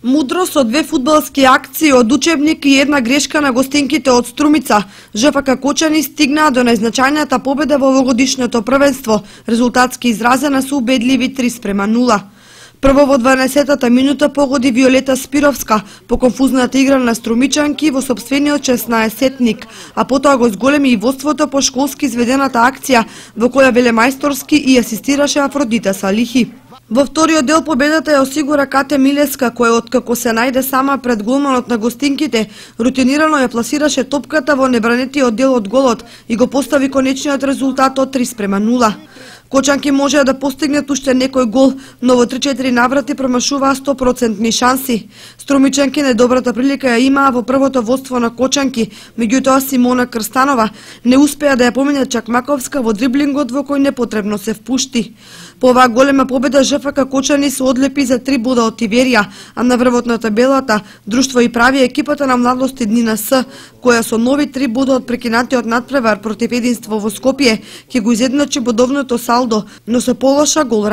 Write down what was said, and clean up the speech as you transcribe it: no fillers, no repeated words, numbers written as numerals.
Мудро со две фудбалски акции од учебник и една грешка на гостинките од Струмица, ЖФК Кочани стигнаа до најзначајната победа во овогодишното првенство, резултатски изразена со убедливи 3:0. Прво во 12-та минута погоди Виолета Спировска по конфузната игра на струмичанки во сопствениот 16-тник, а потоа го зголеми и водството по школски изведената акција во која велемајсторски и асистираше Афродита Салихи. Во вториот дел победата ја осигура Кате Милеска, која откако се најде сама пред голманот на гостинките, рутинирано ја пласираше топката во небранетиот дел од голот и го постави конечниот резултат од 3:0. Кочанки можеа да постигнат уште некој гол, но во 3-4 наврати промашуваа 100% шанси. Струмичанки најдобрата прилика ја имаа во првото водство на Кочанки, меѓутоа Симона Крстанова не успеа да ја помине Чакмаковска во дриблингот во кој непотребно се впушти. По оваа голема победа ЖФК Кочани се одлепи за 3 бода од Тиверија, а на врвот на табелата друштво и прави екипата на младости Днина С, која со нови 3 бода од прекинатиот надпревар против Единство во Скопје ќе го изедначи бодовното салдо, но со полоша гол